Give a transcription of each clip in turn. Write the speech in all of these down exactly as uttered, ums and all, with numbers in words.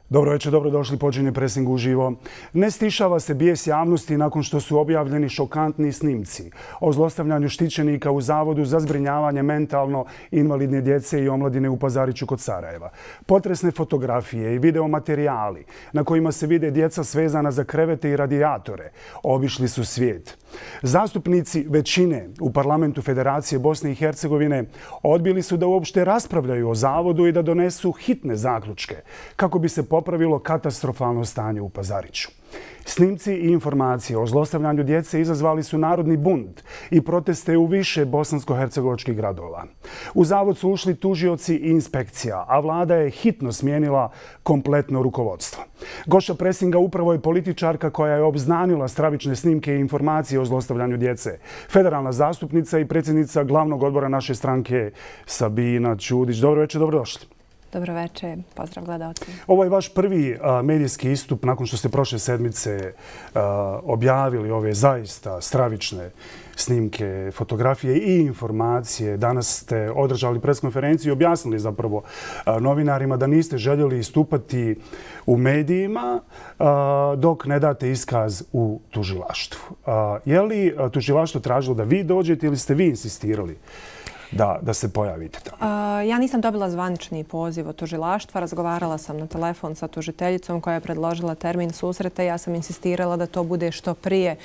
Dobro večer, dobrodošli, počinje Presing uživo. Ne stišava se bijes javnosti nakon što su objavljeni šokantni snimci o zlostavljanju štićenika u Zavodu za zbrinjavanje mentalno invalidne djece i omladine u Pazariću kod Sarajeva. Potresne fotografije i videomaterijali na kojima se vide djeca svezana za krevete i radijatore obišli su svijet. Zastupnici većine u parlamentu Federacije Bosne i Hercegovine odbili su da uopšte raspravljaju o Zavodu i da donesu hitne zaključke kako bi se popravilo katastrofalno stanje u Pazariću. Snimci i informacije o zlostavljanju djece izazvali su narodni bunt i proteste u više bosansko-hercegovačkih gradova. U Zavod su ušli tužioci i inspekcija, a vlada je hitno smijenila kompletno rukovodstvo. Gošća Presinga upravo je političarka koja je obznanila stravične snimke i informacije o zlostavljanju djece. Federalna zastupnica i predsjednica glavnog odbora naše stranke Sabina Ćudić. Dobro večer, dobrodošli. Dobro večer, pozdrav gledalci. Ovo je vaš prvi a, medijski istup nakon što ste prošle sedmice a, objavili ove zaista stravične snimke, fotografije i informacije. Danas ste održali preskonferenciju i objasnili zapravo a, novinarima da niste željeli istupati u medijima a, dok ne date iskaz u tužilaštvu. A, je li tužilaštvo tražilo da vi dođete ili ste vi insistirali Da, da se pojavite tamo? Uh, ja nisam dobila zvanični poziv od tužilaštva. Razgovarala sam na telefon sa tužiteljicom koja je predložila termin susreta. Ja sam insistirala da to bude što prije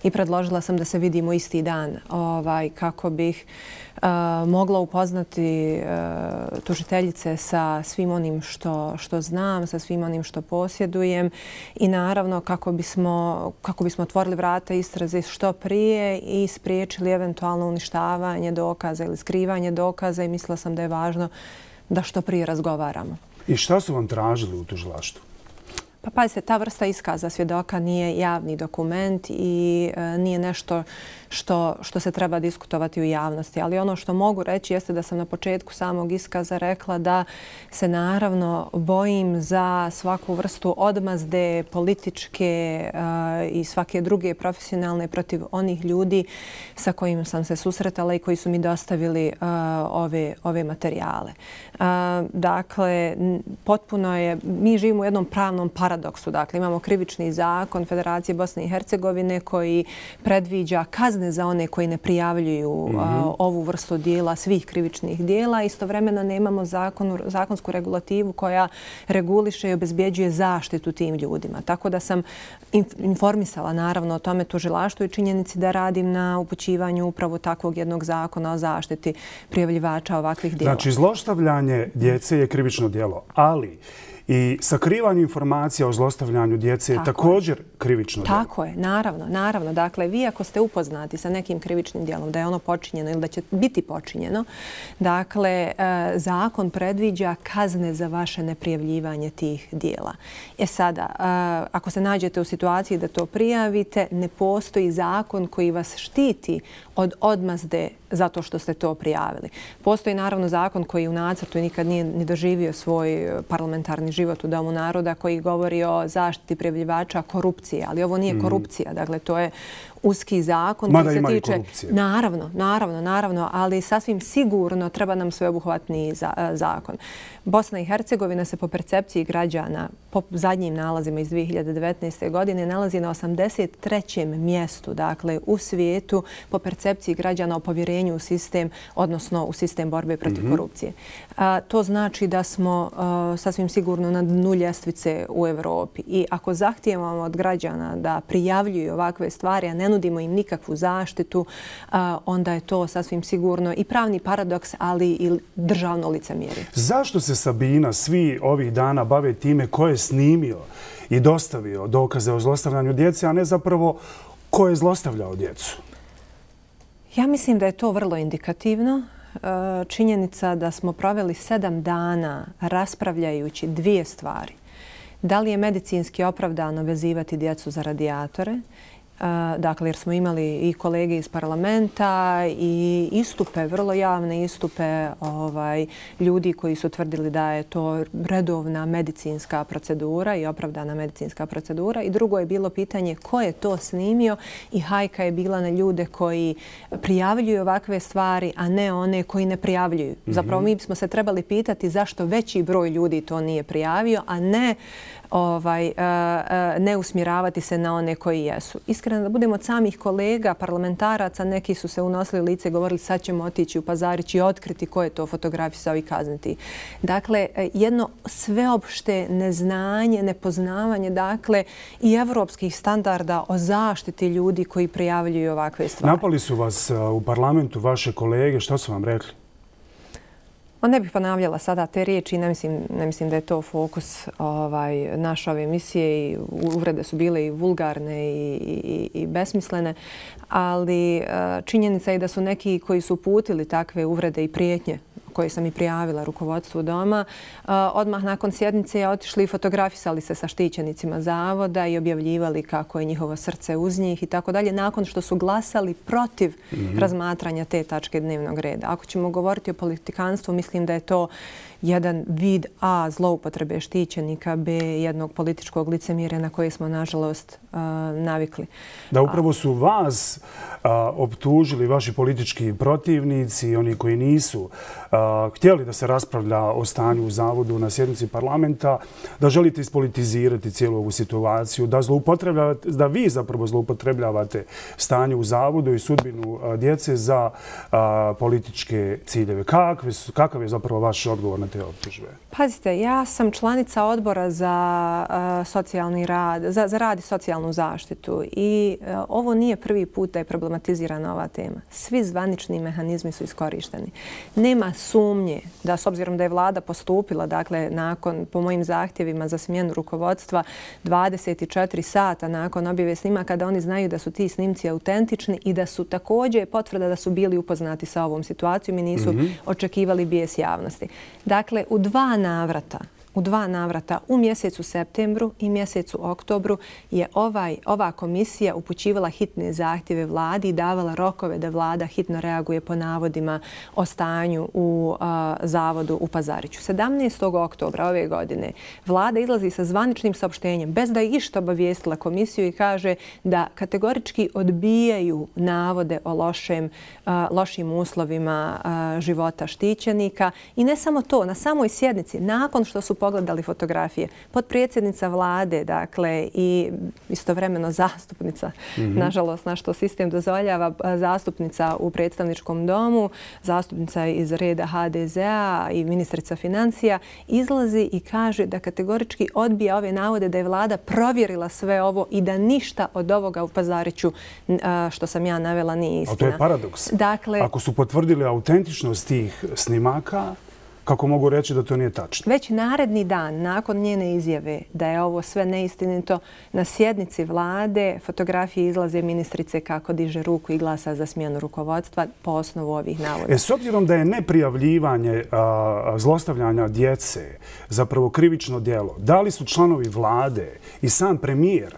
i predložila sam da se vidimo isti dan ovaj, kako bih uh, mogla upoznati uh, tužiteljice sa svim onim što, što znam, sa svim onim što posjedujem i naravno kako bismo, kako bismo otvorili vrata istrazi što prije i spriječili eventualno uništavanje dokaza ili skrivanje dokaza i mislila sam da je važno da što prije razgovaramo. I šta su vam tražili u tužilaštvu? Pa pazite, ta vrsta iskaza svjedoka nije javni dokument i e, nije nešto što, što se treba diskutovati u javnosti. Ali ono što mogu reći jeste da sam na početku samog iskaza rekla da se naravno bojim za svaku vrstu odmazde političke e, i svake druge profesionalne protiv onih ljudi sa kojima sam se susretala i koji su mi dostavili e, ove, ove materijale. E, dakle, potpuno je, mi živimo u jednom pravnom paradoksu. Dakle, imamo krivični zakon Federacije Bosne i Hercegovine koji predviđa kazne za one koji ne prijavljuju mm -hmm. ovu vrstu dijela, svih krivičnih dijela. Istovremeno nemamo zakon, zakonsku regulativu koja reguliše i obezbjeđuje zaštitu tim ljudima. Tako da sam informisala naravno o tome tužilaštvu i činjenici da radim na upućivanju upravo takvog jednog zakona o zaštiti prijavljivača ovakvih dijela. Znači, zlostavljanje djece je krivično djelo, ali i sakrivanje informacija o zlostavljanju djece je također krivično djelo. Tako je, naravno, naravno. Dakle, vi ako ste upoznati sa nekim krivičnim djelom, da je ono počinjeno ili da će biti počinjeno, dakle, zakon predviđa kazne za vaše neprijavljivanje tih djela. E sada, ako se nađete u situaciji da to prijavite, ne postoji zakon koji vas štiti od odmazde zato što ste to prijavili. Postoji naravno zakon koji u nacrtu nikad nije ni doživio svoj parlamentarni život u Domu naroda koji govori o zaštiti prijavljivača korupcije, ali ovo nije korupcija, dakle to je uski zakon Mada koji se ima i tiče... korupcije. Naravno, naravno, naravno, ali sasvim sigurno treba nam sveobuhvatniji za, zakon. Bosna i Hercegovina se po percepciji građana, po zadnjim nalazima iz dvije hiljade devetnaeste. godine, nalazi na osamdeset trećem mjestu, dakle u svijetu po percepciji građana o povjerenju u sistem, odnosno u sistem borbe protiv mm-hmm. korupcije. A, to znači da smo a, sasvim sigurno na dnu ljestvice u Evropi i ako zahtijevamo od građana da prijavljuju ovakve stvari, a ne nudimo im nikakvu zaštitu, onda je to sasvim sigurno i pravni paradoks, ali i državno licemjerje. Zašto se Sabina svi ovih dana bave time ko je snimio i dostavio dokaze o zlostavljanju djece, a ne zapravo ko je zlostavljao djecu? Ja mislim da je to vrlo indikativno. Činjenica da smo proveli sedam dana raspravljajući dvije stvari. Da li je medicinski opravdano vezivati djecu za radijatore Dakle, jer smo imali i kolege iz parlamenta i istupe, vrlo javne istupe ovaj, ljudi koji su tvrdili da je to redovna medicinska procedura i opravdana medicinska procedura. I drugo je bilo pitanje ko je to snimio i hajka je bila na ljude koji prijavljuju ovakve stvari, a ne one koji ne prijavljuju. Zapravo mi smo se trebali pitati zašto veći broj ljudi to nije prijavio, a ne Ovaj, ne usmjeravati se na one koji jesu. Iskreno da budemo od samih kolega, parlamentaraca, neki su se unosili lice i govorili sad ćemo otići u Pazarić i otkriti ko je to fotografisao i kazniti. Dakle, jedno sveopšte neznanje, nepoznavanje, dakle, i evropskih standarda o zaštiti ljudi koji prijavljuju ovakve stvari. Napali su vas u parlamentu vaše kolege, šta su vam rekli? Ne bih ponavljala sada te riječi, ne mislim, ne mislim da je to fokus ovaj, naše ove emisije i uvrede su bile i vulgarne i, i, i besmislene, ali činjenica je da su neki koji su uputili takve uvrede i prijetnje koje sam i prijavila rukovodstvu doma, odmah nakon sjednice je otišli i fotografisali se sa štićenicima zavoda i objavljivali kako je njihovo srce uz njih i tako dalje, nakon što su glasali protiv razmatranja te tačke dnevnog reda. Ako ćemo govoriti o politikanstvu, mislim da je to jedan vid A zloupotrebe štićenika, B jednog političkog licemjerja na koje smo, nažalost, navikli. Da upravo su vas optužili vaši politički protivnici, oni koji nisu htjeli da se raspravlja o stanju u zavodu na sjednici parlamenta, da želite ispolitizirati cijelu ovu situaciju, da, da vi zapravo zloupotrebljavate stanje u zavodu i sudbinu djece za političke ciljeve. Kakav je zapravo vaš odgovor na te optužbe? Pazite, ja sam članica odbora za socijalni rad, za, za rad i socijalnu zaštitu i ovo nije prvi put da je problematizirana ova tema. Svi zvanični mehanizmi su iskorišteni. Nema sumnje da, s obzirom da je vlada postupila, dakle, nakon, po mojim zahtjevima za smjenu rukovodstva, dvadeset četiri sata nakon objave snimaka, da oni znaju da su ti snimci autentični i da su također potvrda da su bili upoznati sa ovom situacijom i nisu mm-hmm. očekivali bijes javnosti. Dakle, u dva navrata, u dva navrata u mjesecu septembru i mjesecu oktobru je ovaj, ova komisija upućivala hitne zahtjeve vladi i davala rokove da vlada hitno reaguje po navodima o stanju u a, zavodu u Pazariću. sedamnaestog oktobra ove godine vlada izlazi sa zvaničnim saopštenjem bez da je išta obavijestila komisiju i kaže da kategorički odbijaju navode o lošem, a, lošim uslovima a, života štićenika. I ne samo to, na samoj sjednici, nakon što su pogledali fotografije, potpredsjednica vlade, dakle, i istovremeno zastupnica, mm-hmm. nažalost, na što sistem dozvoljava, zastupnica u predstavničkom domu, zastupnica iz reda ha de zea i ministrica financija, izlazi i kaže da kategorički odbija ove navode da je vlada provjerila sve ovo i da ništa od ovoga u Pazariću, što sam ja navela, nije istina. A to je paradoks. Dakle, ako su potvrdili autentičnost tih snimaka, kako mogu reći da to nije tačno? Već naredni dan, nakon njene izjave da je ovo sve neistinito, na sjednici vlade fotografije izlaze ministrice kako diže ruku i glasa za smjenu rukovodstva po osnovu ovih navoda. E, s obzirom da je neprijavljivanje a, zlostavljanja djece zapravo krivično djelo, da li su članovi vlade i sam premijer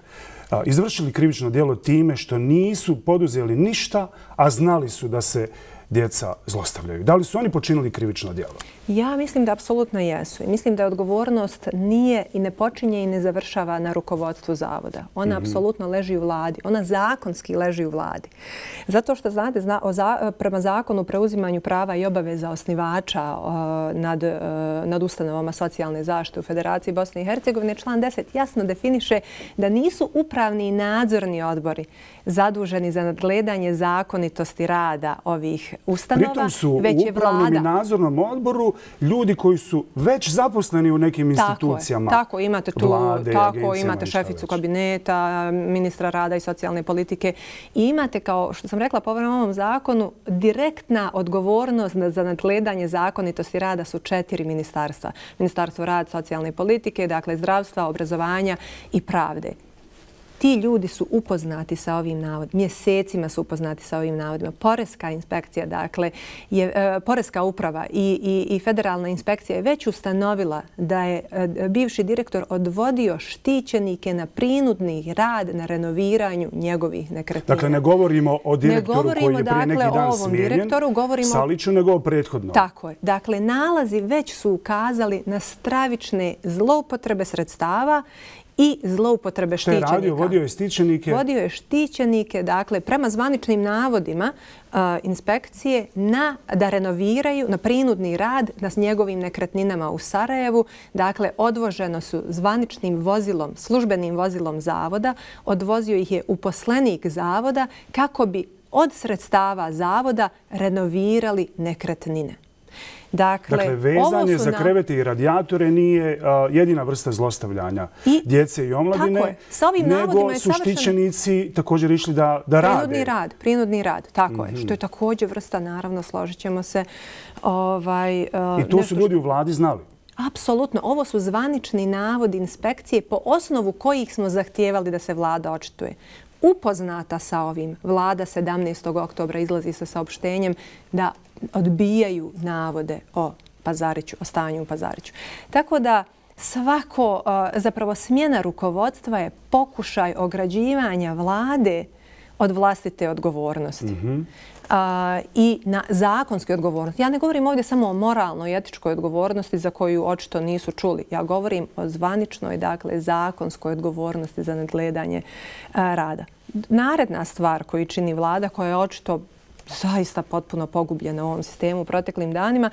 a, izvršili krivično djelo time što nisu poduzeli ništa, a znali su da se djeca zlostavljaju? Da li su oni počinili krivično djelo? Ja mislim da apsolutno jesu. I mislim da odgovornost nije i ne počinje i ne završava na rukovodstvu zavoda. Ona mm-hmm. apsolutno leži u vladi. Ona zakonski leži u vladi. Zato što, znate, zna, o za, prema zakonu o preuzimanju prava i obaveza osnivača uh, nad, uh, nad ustanovama socijalne zaštite u Federaciji Bosne i Hercegovine, član deset jasno definiše da nisu upravni i nadzorni odbori zaduženi za nadgledanje zakonitosti rada ovih ustanova, pritom su već u upravnom i nadzornom odboru ljudi koji su već zaposleni u nekim institucijama. Tako, tako imate tu, vlade, tako imate šeficu kabineta, ministra rada i socijalne politike i imate, kao što sam rekla, po ovom zakonu, direktna odgovornost za nadgledanje zakonitosti rada su četiri ministarstva. Ministarstvo rada, socijalne politike, dakle zdravstva, obrazovanja i pravde. ti ljudi su upoznati sa ovim navodima, mjesecima su upoznati sa ovim navodima. Poreska inspekcija, dakle, je, e, Poreska uprava i, i, i federalna inspekcija je već ustanovila da je e, bivši direktor odvodio štićenike na prinudni rad na renoviranju njegovih nekretnina. Dakle, ne govorimo o direktoru govorimo, koji je prije neki dakle, dan ovom smijenjen, direktoru, govorimo, Saliću, nego o prethodnom. Tako je. Dakle, nalazi već su ukazali na stravične zloupotrebe sredstava i zloupotrebe štićenika. Šta je radio? Vodio je štićenike? Vodio je štićenike, dakle, prema zvaničnim navodima uh, inspekcije na, da renoviraju na prinudni rad na njegovim nekretninama u Sarajevu. Dakle, odvoženo su zvaničnim vozilom, službenim vozilom zavoda, odvozio ih je uposlenik zavoda kako bi od sredstava zavoda renovirali nekretnine. Dakle, dakle, vezanje za na... krevete i radijatore nije uh, jedina vrsta zlostavljanja I, djece i omladine, tako je. Sa ovim nego je su štićenici također išli da, da rade. Prinudni rad, prinudni rad, tako mm-hmm. je. Što je također vrsta, naravno, složit ćemo se. Ovaj, uh, I to su ljudi u vladi znali? Apsolutno. Ovo su zvanični navodi inspekcije po osnovu kojih smo zahtijevali da se vlada očituje. Upoznata sa ovim, vlada sedamnaestog oktobra izlazi sa saopštenjem da odbijaju navode o Pazariću, o stanju u Pazariću. Tako da svako, zapravo smjena rukovodstva je pokušaj ograđivanja vlade od vlastite odgovornosti. Mm-hmm. A, i na zakonske odgovornosti. Ja ne govorim ovdje samo o moralnoj i etičkoj odgovornosti za koju očito nisu čuli. Ja govorim o zvaničnoj, dakle, zakonskoj odgovornosti za nadgledanje a, rada. Naredna stvar koju čini vlada, koja je očito zaista potpuno pogubljena u ovom sistemu u proteklim danima,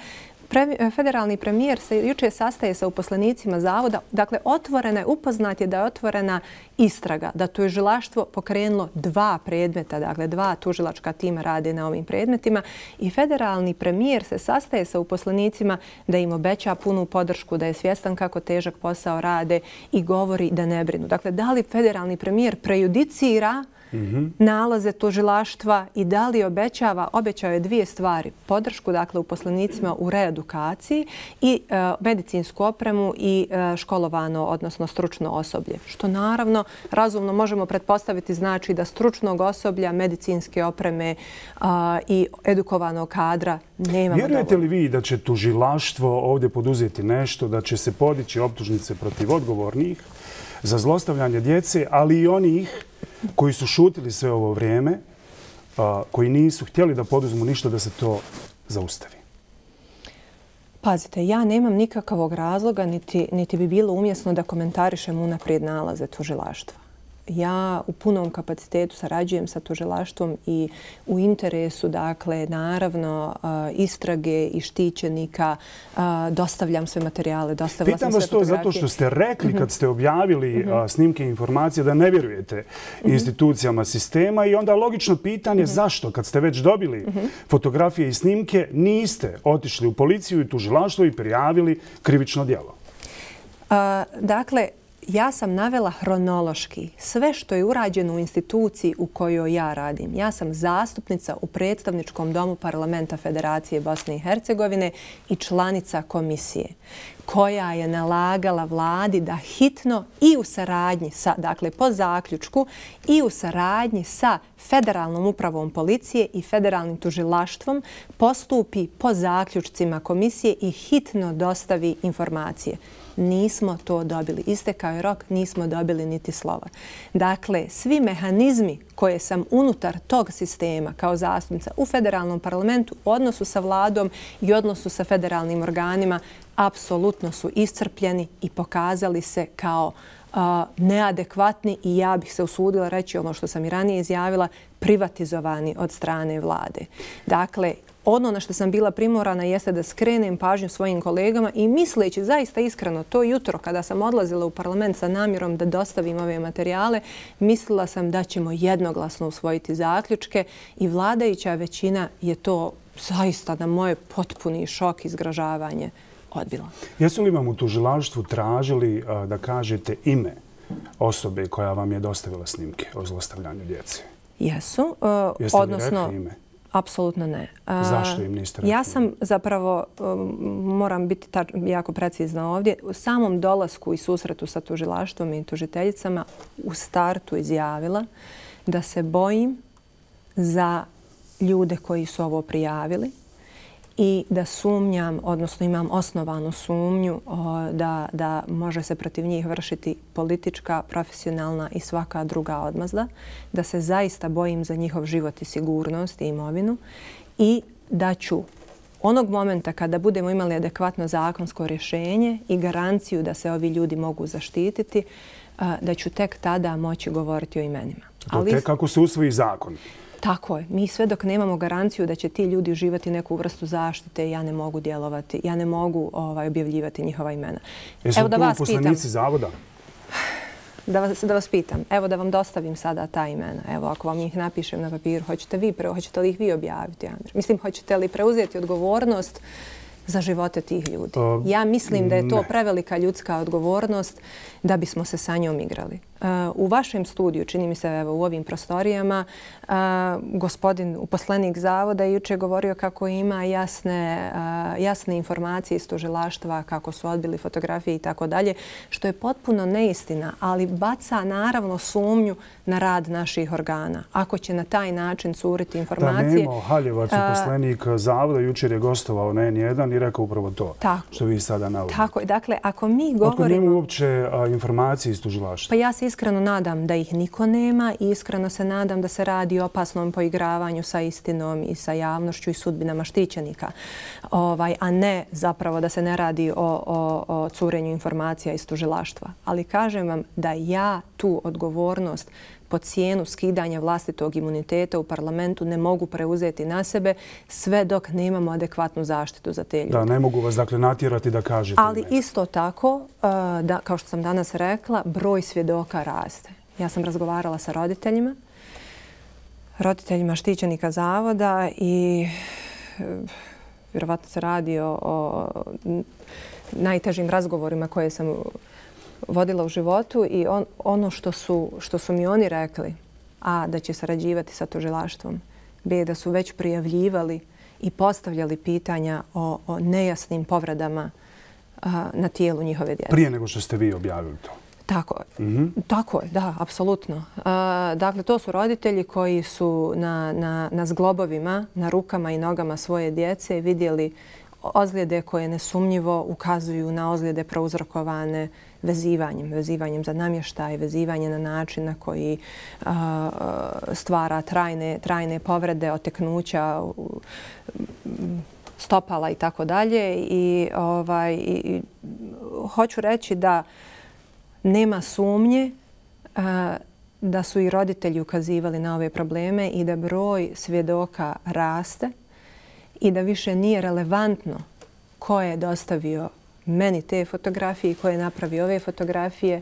Pre, federalni premijer se jučer sastaje sa uposlenicima zavoda. Dakle, otvorena je, upoznat je da je otvorena istraga, da tužilaštvo pokrenulo dva predmeta, dakle dva tužilačka tima rade na ovim predmetima i federalni premijer se sastaje sa uposlenicima da im obeća punu podršku, da je svjestan kako težak posao rade i govori da ne brinu. Dakle, da li federalni premijer prejudicira Mm-hmm. nalaze tužilaštva i da li obećava, obećao je dvije stvari. Podršku, dakle, uposlenicima u reedukaciji i e, medicinsku opremu i e, školovano, odnosno stručno osoblje. Što naravno, razumno možemo pretpostaviti znači da stručnog osoblja, medicinske opreme a, i edukovanog kadra nemamo dovoljno. Vjerujete li vi da će tužilaštvo ovdje poduzeti nešto, da će se podići optužnice protiv odgovornih za zlostavljanje djece, ali i onih koji su šutili sve ovo vrijeme, a, koji nisu htjeli da poduzmu ništa da se to zaustavi? Pazite, ja nemam nikakvog razloga, niti, niti bi bilo umjesno da komentarišem unaprijed nalaze tužilaštva. Ja u punom kapacitetu sarađujem sa tužilaštvom i u interesu, dakle, naravno, istrage i štićenika, dostavljam sve materijale, dostavila sam sve fotografije. Pitam vas to zato što ste rekli kad ste objavili snimke i informacije da ne vjerujete institucijama sistema i onda logično pitanje zašto kad ste već dobili fotografije i snimke niste otišli u policiju i tužilaštvo i prijavili krivično djelo? Dakle, ja sam navela hronološki sve što je urađeno u instituciji u kojoj ja radim. Ja sam zastupnica u predstavničkom domu Parlamenta Federacije Bosne i Hercegovine i članica komisije koja je nalagala vladi da hitno i u saradnji sa, dakle po zaključku, i u saradnji sa Federalnom upravom policije i Federalnim tužilaštvom postupi po zaključcima komisije i hitno dostavi informacije. Nismo to dobili. Istekao je rok, nismo dobili niti slova. Dakle, svi mehanizmi koje sam unutar tog sistema kao zastupnica u federalnom parlamentu u odnosu sa vladom i odnosu sa federalnim organima apsolutno su iscrpljeni i pokazali se kao uh, neadekvatni i ja bih se usudila reći ono što sam i ranije izjavila, privatizovani od strane vlade. Dakle, ono na što sam bila primorana jeste da skrenem pažnju svojim kolegama i misleći zaista iskreno to jutro kada sam odlazila u parlament sa namjerom da dostavim ove materijale, mislila sam da ćemo jednoglasno usvojiti zaključke i vladajuća većina je to zaista na moje potpuni šok i zgražavanje odbila. Jesu li vam u tužilaštvu tražili a, da kažete ime osobe koja vam je dostavila snimke o zlostavljanju djece? Jesu. Uh, Jeste odnosno, li rekli ime? Apsolutno ne. Zašto im niste rekli? Ja sam zapravo, moram biti jako precizna ovdje, u samom dolasku i susretu sa tužilaštvom i tužiteljicama u startu izjavila da se bojim za ljude koji su ovo prijavili i da sumnjam, odnosno imam osnovanu sumnju da, da može se protiv njih vršiti politička, profesionalna i svaka druga odmazda, da se zaista bojim za njihov život i sigurnost i imovinu i da ću onog momenta kada budemo imali adekvatno zakonsko rješenje i garanciju da se ovi ljudi mogu zaštititi, da ću tek tada moći govoriti o imenima. Ali tek kako se usvoji zakon. Tako je. Mi sve dok nemamo garanciju da će ti ljudi uživati neku vrstu zaštite, ja ne mogu djelovati, ja ne mogu ovaj, objavljivati njihova imena. Jesu tu uposlenici zavoda? Da vas, da vas pitam. Evo da vam dostavim sada ta imena. Evo ako vam ih napišem na papiru, hoćete, vi, hoćete li ih vi objaviti, Andrej? Mislim, hoćete li preuzeti odgovornost za živote tih ljudi? Uh, ja mislim da je to ne. prevelika ljudska odgovornost da bismo se sa njom igrali. Uh, u vašem studiju, čini mi se evo, u ovim prostorijama, uh, gospodin uposlenik zavoda juče govorio kako ima jasne, uh, jasne informacije iz tužilaštva, kako su odbili fotografije i tako dalje, što je potpuno neistina, ali baca naravno sumnju na rad naših organa. Ako će na taj način curiti informacije... Da, Nemo Haljevac, uposlenik zavoda, jučer je gostovao na N jedan i rekao upravo to, tako, što vi sada navodite. Tako je. Dakle, ako mi govorimo... Otkud nema uopće a, informacije iz tužilaštva? Pa ja se iskreno nadam da ih niko nema i iskreno se nadam da se radi o opasnom poigravanju sa istinom i sa javnošću i sudbinama štićenika, ovaj, a ne zapravo da se ne radi o, o, o curenju informacija iz tužilaštva. Ali kažem vam da ja tu odgovornost po cijenu skidanja vlastitog imuniteta u parlamentu ne mogu preuzeti na sebe sve dok nemamo adekvatnu zaštitu za te ljude. Da, ne mogu vas dakle natjerati da kažete. Ali isto tako, da, kao što sam danas rekla, broj svjedoka raste. Ja sam razgovarala sa roditeljima, roditeljima štićenika zavoda i vjerovatno se radi o, o najtežim razgovorima koje sam vodila u životu i on, ono što su, što su mi oni rekli, a da će sarađivati sa tužilaštvom, b da su već prijavljivali i postavljali pitanja o, o nejasnim povredama a, na tijelu njihove djece. Prije nego što ste vi objavili to? Tako je. Mm-hmm. Tako je, da, apsolutno. A, dakle, to su roditelji koji su na, na, na zglobovima, na rukama i nogama svoje djece vidjeli ozljede koje nesumnjivo ukazuju na ozljede prouzrokovane vezivanjem, vezivanjem za namještaj, vezivanje na način na koji a, stvara trajne, trajne povrede, oteknuća, stopala i tako dalje. I ovaj, i, hoću reći da nema sumnje a, da su i roditelji ukazivali na ove probleme i da broj svjedoka raste i da više nije relevantno ko je dostavio meni te fotografije i ko je napravio ove fotografije,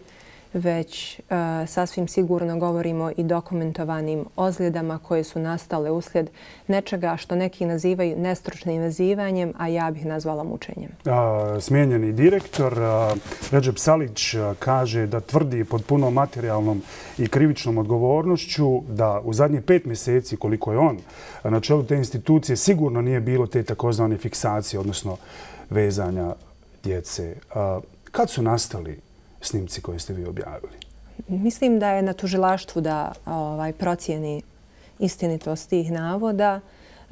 već uh, sasvim sigurno govorimo i dokumentovanim ozljedama koje su nastale uslijed nečega što neki nazivaju nestručnim vezivanjem, a ja bih nazvala mučenjem. A, smijenjeni direktor a, Redžep Salić a, kaže da tvrdi pod punom materijalnom i krivičnom odgovornošću da u zadnjih pet mjeseci koliko je on na čelu te institucije sigurno nije bilo te takozvane fiksacije, odnosno vezanja djece. A, kad su nastali snimci koje ste vi objavili? Mislim da je na tužilaštvu da ovaj, procijeni istinitost tih navoda.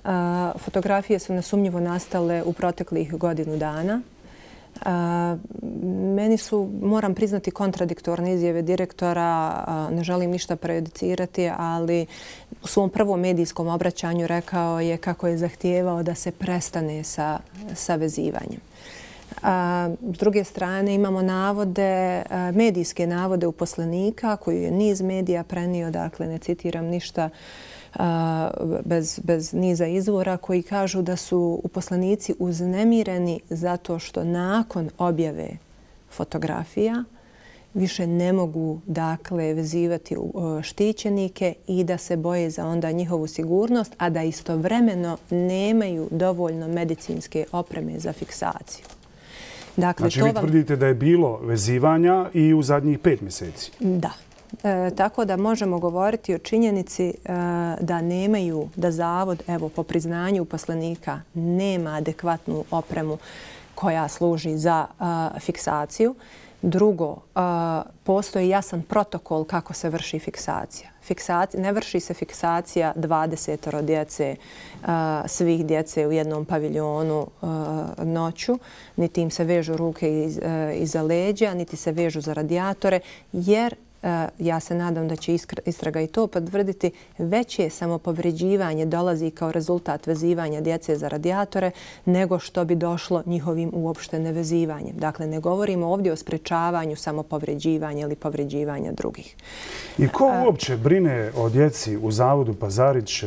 A, fotografije su nesumnjivo nastale u proteklih godinu dana. A, meni su, moram priznati, kontradiktorne izjave direktora. A, ne želim ništa prejudicirati, ali u svom prvom medijskom obraćanju rekao je kako je zahtijevao da se prestane sa, sa vezivanjem. A, s druge strane imamo navode, a, medijske navode uposlenika koju je niz medija prenio, dakle ne citiram ništa a, bez, bez niza izvora, koji kažu da su uposlenici uznemireni zato što nakon objave fotografija više ne mogu dakle vezivati štićenike i da se boje za onda njihovu sigurnost, a da istovremeno nemaju dovoljno medicinske opreme za fiksaciju. Dakle, znači, vi vam... tvrdite da je bilo vezivanja i u zadnjih pet mjeseci? Da. E, tako da možemo govoriti o činjenici e, da nemaju, da zavod, evo, po priznanju uposlenika, nema adekvatnu opremu koja služi za a, fiksaciju. Drugo, a, postoji jasan protokol kako se vrši fiksacija. Fiksacija, ne vrši se fiksacija dvadesetoro djece, a, svih djece u jednom paviljonu a, noću, niti im se vežu ruke iz, a, iza leđa, niti se vežu za radijatore, jer ja se nadam da će istraga i to potvrditi, veće samopovređivanje dolazi kao rezultat vezivanja djece za radijatore nego što bi došlo njihovim uopšte nevezivanjem. Dakle, ne govorimo ovdje o sprečavanju samopovređivanja ili povređivanja drugih. I ko uopće brine o djeci u Zavodu Pazarić,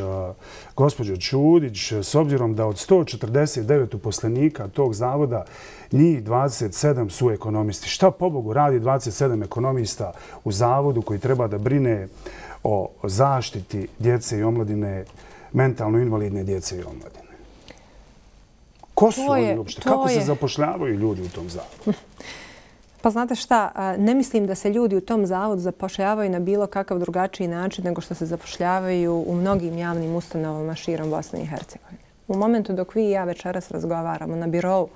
gospođo Čudić, s obzirom da od sto četrdeset devet uposlenika tog zavoda njih dvadeset sedam su ekonomisti? Šta pobogu radi dvadeset sedam ekonomista u zavodu koji treba da brine o zaštiti djece i omladine, mentalno invalidne djece i omladine? Ko su oni uopšte? Kako se zapošljavaju ljudi u tom zavodu? Pa znate šta, ne mislim da se ljudi u tom zavodu zapošljavaju na bilo kakav drugačiji način nego što se zapošljavaju u mnogim javnim ustanovama širom Bosne i Hercegovine. U momentu dok vi i ja večeras razgovaramo na birovu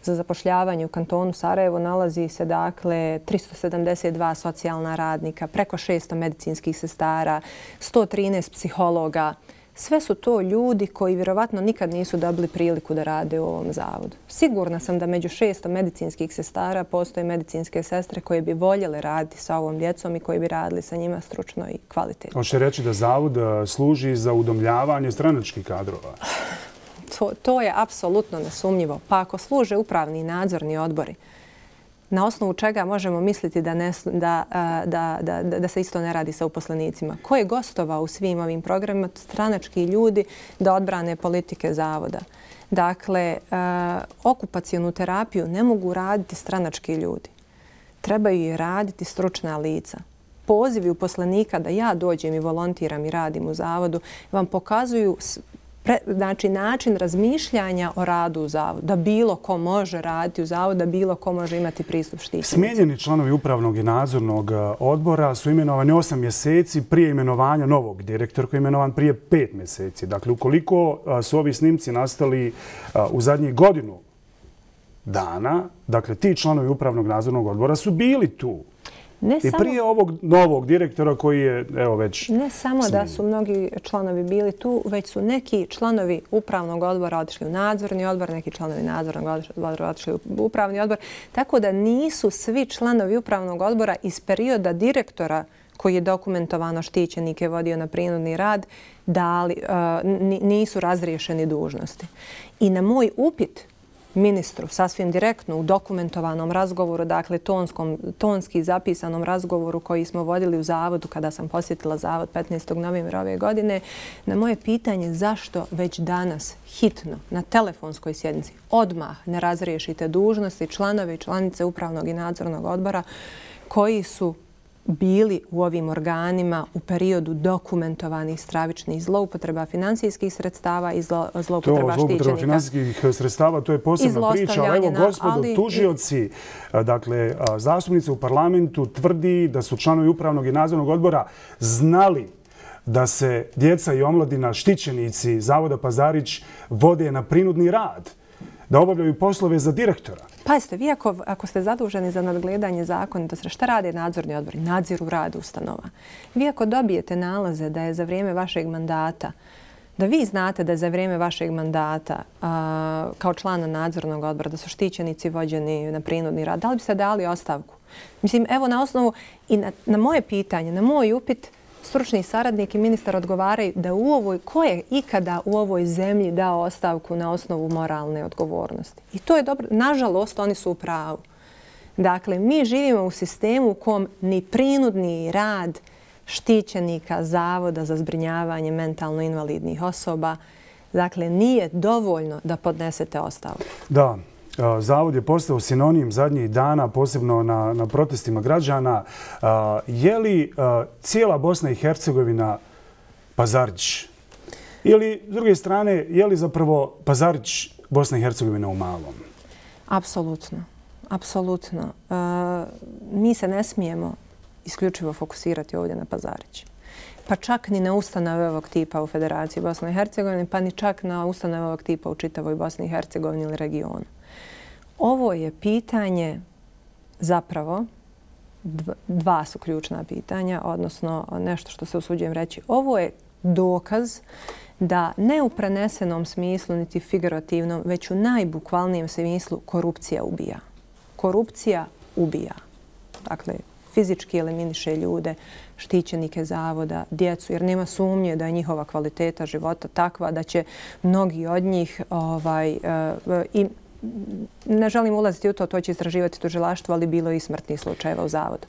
za zapošljavanje u kantonu Sarajevo nalazi se dakle tristo sedamdeset dva socijalna radnika, preko šesto medicinskih sestara, sto trinaest psihologa. Sve su to ljudi koji vjerovatno nikad nisu dobili priliku da rade u ovom zavodu. Sigurna sam da među šesto medicinskih sestara postoje medicinske sestre koje bi voljele raditi sa ovom djecom i koji bi radili sa njima stručno i kvalitetno. Hoće reći da zavod služi za udomljavanje stranačkih kadrova? To, to je apsolutno nesumnjivo. Pa ako služe upravni i nadzorni odbori, na osnovu čega možemo misliti da, ne, da, da, da, da se isto ne radi sa uposlenicima? Ko je gostovao u svim ovim programima? Stranački ljudi da odbrane politike zavoda. Dakle, okupacionu terapiju ne mogu raditi stranački ljudi. Trebaju je raditi stručna lica. Pozivi uposlenika da ja dođem i volontiram i radim u zavodu vam pokazuju Pre, znači način razmišljanja o radu u zavodu, da bilo ko može raditi u zavodu, da bilo ko može imati pristup štićenicima. Smijenjeni članovi upravnog i nadzornog odbora su imenovani osam mjeseci prije imenovanja novog direktora koji je imenovan prije pet mjeseci. Dakle, ukoliko su ovi snimci nastali u zadnjih godinu dana, dakle, ti članovi upravnog nadzornog odbora su bili tu. Ne I prije samo, ovog novog direktora koji je evo već Ne samo smijenjen. Da su mnogi članovi bili tu, već su neki članovi upravnog odbora otišli u nadzorni odbor, neki članovi nadzornog odbora otišli u upravni odbor. Tako da nisu svi članovi upravnog odbora iz perioda direktora koji je dokumentovano štićenike vodio na prinudni rad, dali, uh, nisu razriješeni dužnosti. I na moj upit ministru sasvim direktno u dokumentovanom razgovoru, dakle tonskom, tonski zapisanom razgovoru koji smo vodili u zavodu kada sam posjetila zavod petnaestog novembra ove godine, na moje pitanje zašto već danas hitno na telefonskoj sjednici odmah ne razriješite dužnosti članove i članice upravnog i nadzornog odbora koji su bili u ovim organima u periodu dokumentovanih stravičnih zloupotreba financijskih sredstava i zloupotreba štićenika. To zloupotreba financijskih sredstava, to je posebna priča. Ali evo, gospodo, tužioci, dakle, zastupnici u parlamentu tvrdi da su članovi upravnog i nadzornog odbora znali da se djeca i omladina štićenici Zavoda Pazarić vode na prinudni rad, da obavljaju poslove za direktora. Pazite, vi ako, ako ste zaduženi za nadgledanje zakonitosti, šta rade nadzorni odbori? Nadziru rad ustanova. Vi ako dobijete nalaze da je za vrijeme vašeg mandata, da vi znate da je za vrijeme vašeg mandata a, kao člana nadzornog odbora da su štićenici vođeni na prinudni rad, da li biste dali ostavku? Mislim, evo na osnovu i na, na moje pitanje, na moj upit, stručni saradnik i ministar odgovaraju da u ovoj, ko je ikada u ovoj zemlji dao ostavku na osnovu moralne odgovornosti. I to je dobro. Nažalost, oni su u pravu. Dakle, mi živimo u sistemu u kom ni prinudni rad štićenika Zavoda za zbrinjavanje mentalno invalidnih osoba, dakle, nije dovoljno da podnesete ostavku. Da. Zavod je postao sinonim zadnjih dana, posebno na, na protestima građana. Je li cijela Bosna i Hercegovina Pazarić? Ili, s druge strane, je li zapravo Pazarić Bosna i Hercegovina u malom? Apsolutno. Apsolutno. Mi se ne smijemo isključivo fokusirati ovdje na Pazarić. Pa čak ni na ustanove ovog tipa u Federaciji Bosne i Hercegovine, pa ni čak na ustanove ovog tipa u čitavoj Bosni i Hercegovini ili regionu. Ovo je pitanje zapravo, dva su ključna pitanja, odnosno nešto što se usuđujem reći. Ovo je dokaz da ne u prenesenom smislu, niti figurativnom, već u najbukvalnijem smislu korupcija ubija. Korupcija ubija. Dakle, fizički eliminiše ljude, štićenike zavoda, djecu, jer nema sumnje da je njihova kvaliteta života takva da će mnogi od njih ovaj, i ne želim ulaziti u to, to će istraživati tužilaštvo, ali bilo je i smrtnih slučajeva u zavodu.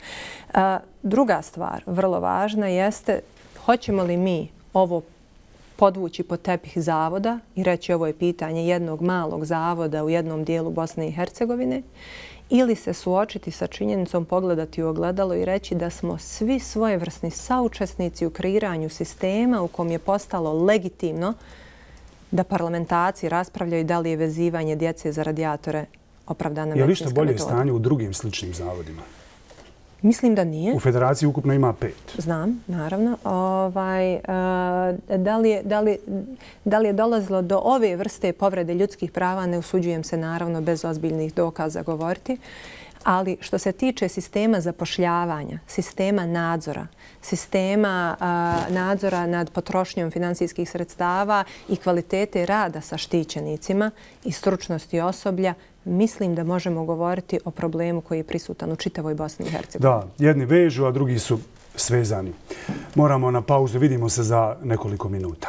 Druga stvar, vrlo važna, jeste hoćemo li mi ovo podvući pod tepih zavoda i reći ovo je pitanje jednog malog zavoda u jednom dijelu Bosne i Hercegovine ili se suočiti sa činjenicom, pogledati u ogledalo i reći da smo svi svojevrsni saučesnici u kreiranju sistema u kom je postalo legitimno da parlamentarci raspravljaju da li je vezivanje djece za radijatore opravdana medicinska metoda. Je li što bolje stanje u drugim sličnim zavodima? Mislim da nije. U Federaciji ukupno ima pet. Znam, naravno. Ovaj, da, li je, da, li, da li je dolazilo do ove vrste povrede ljudskih prava, ne usuđujem se naravno bez ozbiljnih dokaza govoriti. Ali što se tiče sistema zapošljavanja, sistema nadzora, sistema a, nadzora nad potrošnjom finansijskih sredstava i kvalitete rada sa štićenicima i stručnosti osoblja, mislim da možemo govoriti o problemu koji je prisutan u čitavoj Bosni i Hercegovini. Da, jedni vežu, a drugi su svezani. Moramo na pauzu, vidimo se za nekoliko minuta.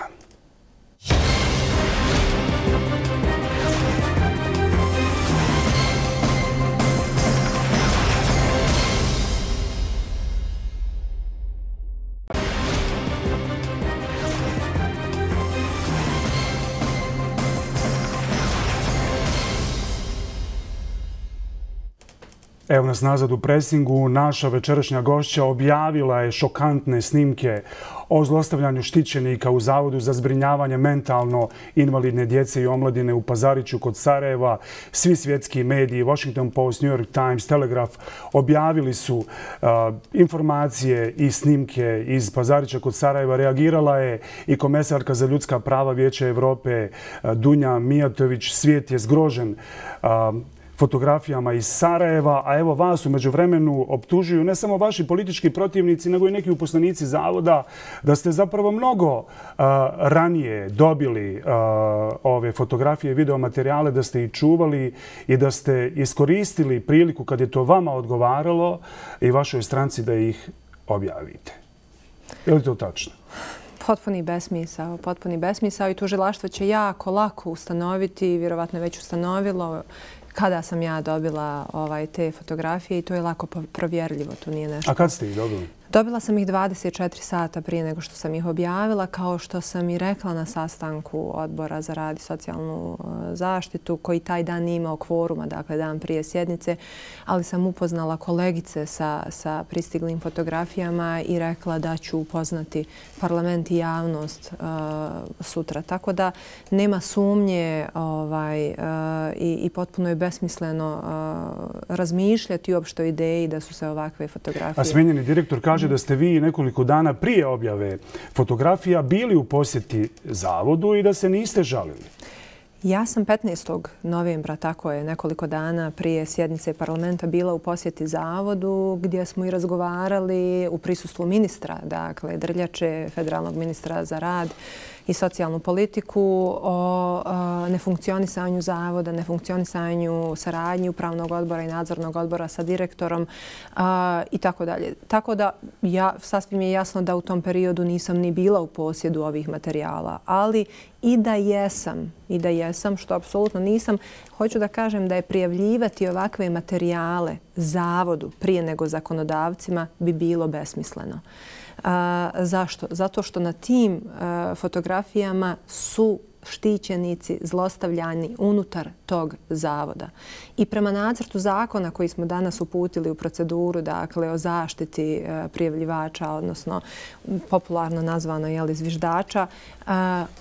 Evo nas nazad u presingu. Naša večerašnja gošća objavila je šokantne snimke o zlostavljanju štićenika u Zavodu za zbrinjavanje mentalno invalidne djece i omladine u Pazariću kod Sarajeva. Svi svjetski mediji, Washington Post, New York Times, Telegraph, objavili su uh, informacije i snimke iz Pazarića kod Sarajeva. Reagirala je i komesarka za ljudska prava Vijeća Evrope uh, Dunja Mijatović. Svijet je zgrožen uh, fotografijama iz Sarajeva, a evo vas u međuvremenu optužuju ne samo vaši politički protivnici, nego i neki uposlenici zavoda da ste zapravo mnogo uh, ranije dobili uh, ove fotografije i videomaterijale, da ste ih čuvali i da ste iskoristili priliku kad je to vama odgovaralo i vašoj stranci da ih objavite. Je li to tačno? Potpuni besmisao, potpuni besmisao i tužilaštvo će jako lako ustanoviti, vjerovatno je već ustanovilo kada sam ja dobila ovaj, te fotografije i to je lako provjerljivo. To nije nešto. A kad ste ih dobili? Dobila sam ih dvadeset četiri sata prije nego što sam ih objavila, kao što sam i rekla na sastanku Odbora za rad i socijalnu zaštitu, koji taj dan nije imao kvoruma, dakle dan prije sjednice, ali sam upoznala kolegice sa, sa pristiglim fotografijama i rekla da ću upoznati parlament i javnost uh, sutra. Tako da nema sumnje ovaj, uh, i, i potpuno je besmisleno uh, razmišljati uopšte o ideji da su se ovakve fotografije... A smenjeni direktor kaže da ste vi nekoliko dana prije objave fotografija bili u posjeti zavodu i da se niste žalili. Ja sam petnaestog novembra, tako je, nekoliko dana prije sjednice parlamenta bila u posjeti zavodu gdje smo i razgovarali u prisustvu ministra, dakle Drljače, federalnog ministra za rad i socijalnu politiku, o nefunkcionisanju zavoda, nefunkcionisanju saradnji upravnog odbora i nadzornog odbora sa direktorom i tako dalje. Tako da ja, sasvim je jasno da u tom periodu nisam ni bila u posjedu ovih materijala, ali i da jesam, i da jesam, što apsolutno nisam, hoću da kažem da je prijavljivati ovakve materijale zavodu prije nego zakonodavcima bi bilo besmisleno. A, zašto? Zato što na tim a, fotografijama su štićenici zlostavljani unutar tog zavoda. I prema nacrtu zakona koji smo danas uputili u proceduru, dakle o zaštiti prijavljivača, odnosno popularno nazvano jeli, zviždača,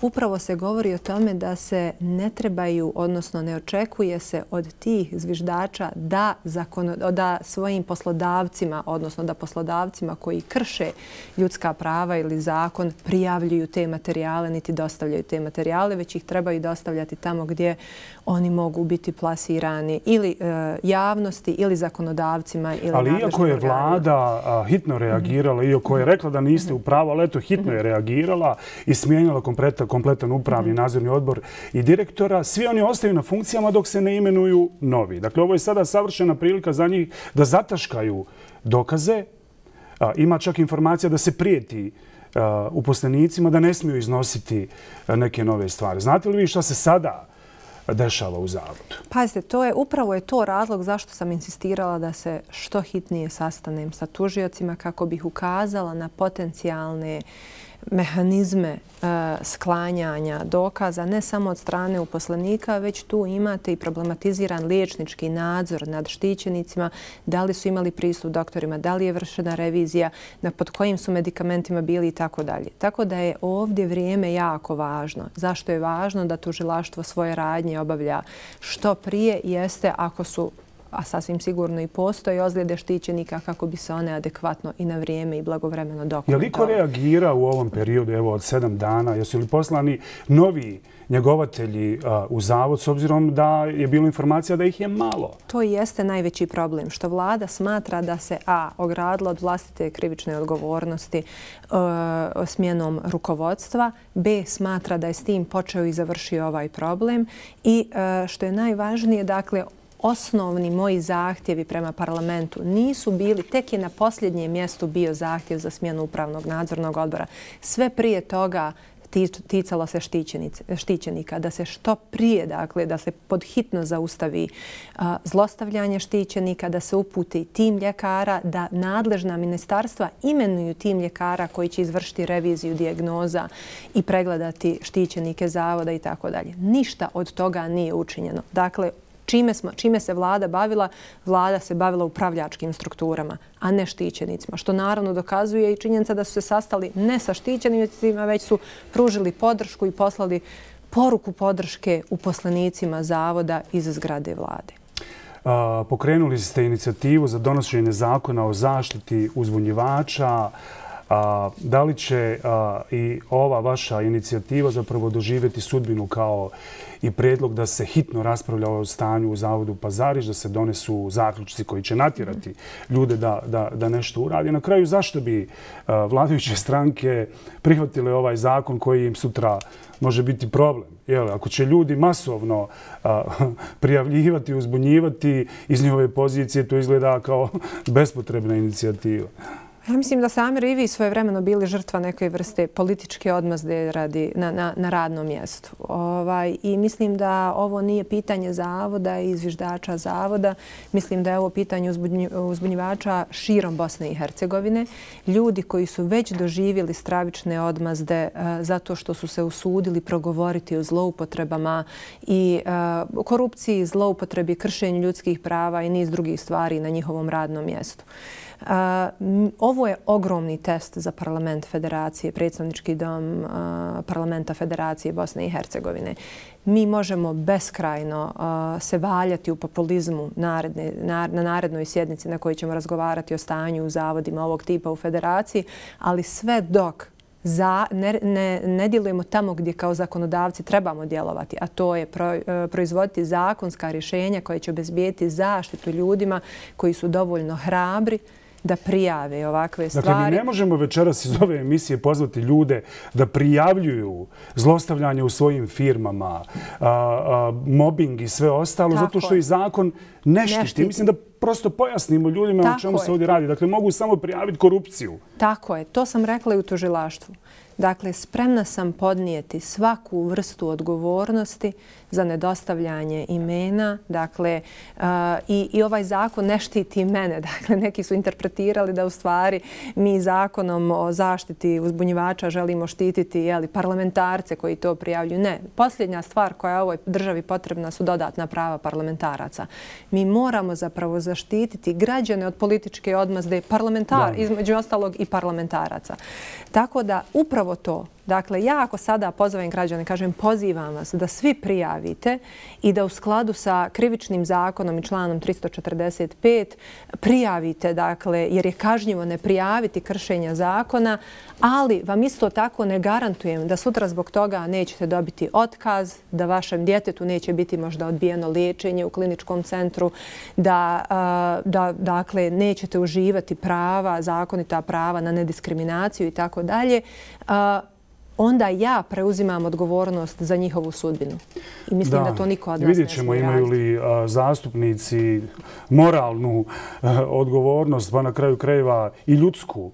upravo se govori o tome da se ne trebaju, odnosno ne očekuje se od tih zviždača da, zakon, da svojim poslodavcima, odnosno da poslodavcima koji krše ljudska prava ili zakon prijavljuju te materijale niti dostavljaju te materijale, već ih trebaju dostavljati tamo gdje oni mogu biti plasirani ili e, javnosti ili zakonodavcima. Ili ali iako je vlada a, hitno reagirala, mm-hmm. iako je rekla da niste u pravu, ali eto hitno je reagirala i smijenila kompletan, kompletan upravni mm-hmm. nadzorni odbor i direktora, svi oni ostaju na funkcijama dok se ne imenuju novi. Dakle, ovo je sada savršena prilika za njih da zataškaju dokaze. A, ima čak informacija da se prijeti a, uposlenicima da ne smiju iznositi a, neke nove stvari. Znate li vi šta se sada dešava u zavodu? Pazite, to je, upravo je to razlog zašto sam insistirala da se što hitnije sastanem sa tužiocima kako bih ukazala na potencijalne mehanizme e, sklanjanja dokaza, ne samo od strane uposlenika, već tu imate i problematiziran liječnički nadzor nad štićenicima, da li su imali pristup doktorima, da li je vršena revizija, na pod kojim su medikamentima bili i tako dalje. Tako da je ovdje vrijeme jako važno. Zašto je važno da tužilaštvo svoje radnje obavlja što prije jeste ako su, a sasvim sigurno i postoje ozljede štićenika kako bi se one adekvatno i na vrijeme i blagovremeno dokumentovali. Je li ko reagira u ovom periodu, evo od sedam dana? Jesu li poslani novi njegovatelji a, u zavod s obzirom da je bilo informacija da ih je malo? To i jeste najveći problem, što vlada smatra da se a. ogradila od vlastite krivične odgovornosti e, smjenom rukovodstva, b. smatra da je s tim počeo i završio ovaj problem i e, što je najvažnije, dakle, osnovni moji zahtjevi prema parlamentu nisu bili, tek je na posljednjem mjestu bio zahtjev za smjenu upravnog nadzornog odbora. Sve prije toga ticalo se štićenika, da se što prije, dakle, da se podhitno zaustavi a, zlostavljanje štićenika, da se uputi tim ljekara, da nadležna ministarstva imenuju tim ljekara koji će izvršiti reviziju dijagnoza i pregledati štićenike zavoda i tako dalje. Ništa od toga nije učinjeno. Dakle, Čime, smo, čime se vlada bavila? Vlada se bavila upravljačkim strukturama, a ne štićenicima. Što naravno dokazuje i činjenica da su se sastali ne sa štićenicima, već su pružili podršku i poslali poruku podrške uposlenicima zavoda iz zgrade vlade. A, pokrenuli ste inicijativu za donošenje zakona o zaštiti uzbunjivača. A, da li će a, i ova vaša inicijativa zapravo doživjeti sudbinu kao i predlog da se hitno raspravlja o stanju u zavodu Pazariš, da se donesu zaključci koji će natjerati ljude da, da, da nešto uradi? Na kraju, zašto bi a, vladajuće stranke prihvatile ovaj zakon koji im sutra može biti problem? Jel, ako će ljudi masovno a, prijavljivati, uzbunjivati iz njihove pozicije, to izgleda kao bespotrebna inicijativa. Ja mislim da sami i vi svojevremeno bili žrtva neke vrste političke odmazde radi na, na, na radnom mjestu. Ovaj, I mislim da ovo nije pitanje zavoda i zviždača zavoda. Mislim da je ovo pitanje uzbunjivača širom Bosne i Hercegovine. Ljudi koji su već doživjeli stravične odmazde uh, zato što su se usudili progovoriti o zloupotrebama i uh, korupciji, zloupotrebi, kršenju ljudskih prava i niz drugih stvari na njihovom radnom mjestu. Uh, ovo je ogromni test za parlament Federacije, predstavnički dom uh, parlamenta Federacije Bosne i Hercegovine. Mi možemo beskrajno uh, se valjati u populizmu naredne, na, na narednoj sjednici na kojoj ćemo razgovarati o stanju u zavodima ovog tipa u Federaciji, ali sve dok Za, ne, ne, ne djelujemo tamo gdje kao zakonodavci trebamo djelovati, a to je pro, proizvoditi zakonska rješenja koje će obezbijeti zaštitu ljudima koji su dovoljno hrabri da prijave ovakve stvari. Dakle, mi ne možemo večeras iz ove emisije pozvati ljude da prijavljuju zlostavljanje u svojim firmama, a, a, mobbing i sve ostalo, tako, zato što i zakon ne štiti. Mislim da prosto pojasnimo ljudima o čemu se ovdje radi. Dakle, mogu samo prijaviti korupciju. Tako je. To sam rekla i u tužilaštvu. Dakle, spremna sam podnijeti svaku vrstu odgovornosti za nedostavljanje imena. Dakle, uh, i, i ovaj zakon ne štiti mene. Dakle, neki su interpretirali da u stvari mi zakonom o zaštiti uzbunjivača želimo štititi jeli, parlamentarce koji to prijavljuju. Ne. Posljednja stvar koja je ovoj državi potrebna su dodatna prava parlamentaraca. Mi moramo zapravo zaštititi građane od političke odmazde, parlamentar, između ostalog i parlamentaraca. Tako da upravo to. Dakle, ja ako sada pozovem građane, kažem pozivam vas da svi prijavite i da u skladu sa krivičnim zakonom i članom tristo četrdeset pet prijavite, dakle, jer je kažnjivo ne prijaviti kršenja zakona, ali vam isto tako ne garantujem da sutra zbog toga nećete dobiti otkaz, da vašem djetetu neće biti možda odbijeno liječenje u kliničkom centru, da, da dakle, nećete uživati prava, zakonita prava na nediskriminaciju i tako dalje. Onda ja preuzimam odgovornost za njihovu sudbinu. I mislim da, da to niko od nas ne smije raditi. Vidjet ćemo imaju li a, zastupnici moralnu a, odgovornost, pa na kraju krajeva i ljudsku,